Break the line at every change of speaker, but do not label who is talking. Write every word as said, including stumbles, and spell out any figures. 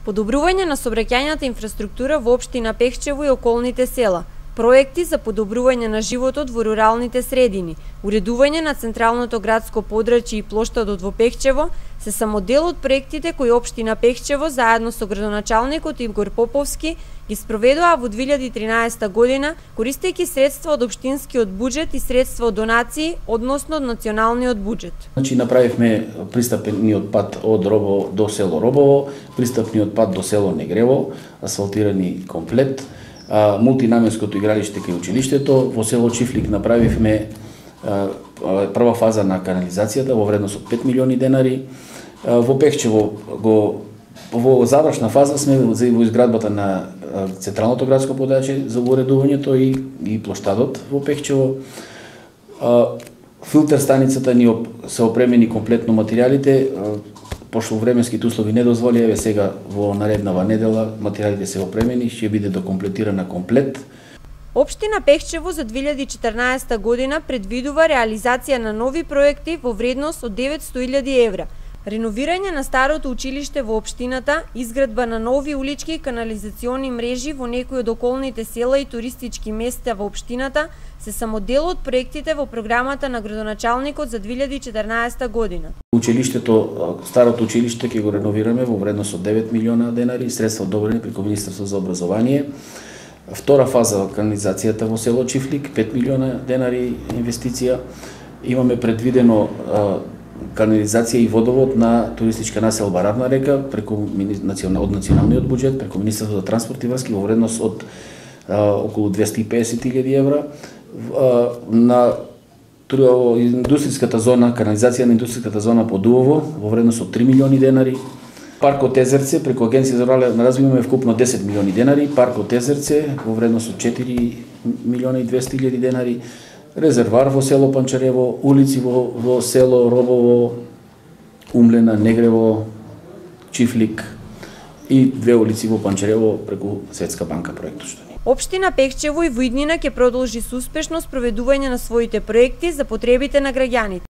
Подобрување на сообраќајната инфраструктура во општина Пехчево и околните села, проекти за подобрување на животот во руралните средини, уредување на централното градско подрачје и плоштадот во Пехчево се само дел од проектите кои општина Пехчево заедно со градоначалникот Игор Поповски ги спроведува во две илјади и тринаесетта година, користејќи средства од општинскиот буџет и средства од донации, односно од националниот буџет.
Значи направивме пристапниот пат од Робово до село Робово, пристапниот пат до село Негрево, асфалтирани комплет, а, мултинаменското игралиште кај училиштето, во село Чифлик направивме а, прва фаза на канализацијата во вредност од пет милиони денари. А, во Пехчево го во завршна фаза сме во изградбата на централното градско подрачје за уредувањето и, и плоштадот во Пехчево. А, филтер станицата ни се опремени комплетно материјалите, пошто временските услови не дозволи, еве сега во нареднава недела материјалите се опремени, ќе биде докомплетирана комплет.
Општина Пехчево за две илјади и четрнаесетта година предвидува реализација на нови проекти во вредност од деветсто илјади евра. Реновирање на старото училиште во општината, изградба на нови улички и канализациони мрежи во некои од околните села и туристички места во општината се само дел од проектите во програмата на градоначалникот за две илјади и четрнаесетта година.
Училиштето, старото училиште ќе го реновираме во вредност од девет милиона денари, средства одобрени преку Министерството за образование. Втора фаза канализацијата во село Чифлик, пет милиона денари инвестиција. Имаме предвидено канализација и водовод на туристичка населба Равна река преку од националниот буџет, преку Министерството за транспорт и врски во вредност од а, околу двесте и песет илјади евра. А, на индустријската зона, канализација на индустријската зона по Дувово во вредност од три милиони денари. Паркот Езерце преку Агенција за рурален развој имаме вкупно десет милиони денари, паркот Езерце во вредност од четири милиона и двесте илјади денари. Резервар во село Панчарево, улици во, во село Робово, Умлена, Негрево, Чифлик и две улици во Панчарево преку Светска банка проектот што ни.
Општина Пехчево и во иднина ќе продолжи со успешно спроведување на своите проекти за потребите на граѓаните.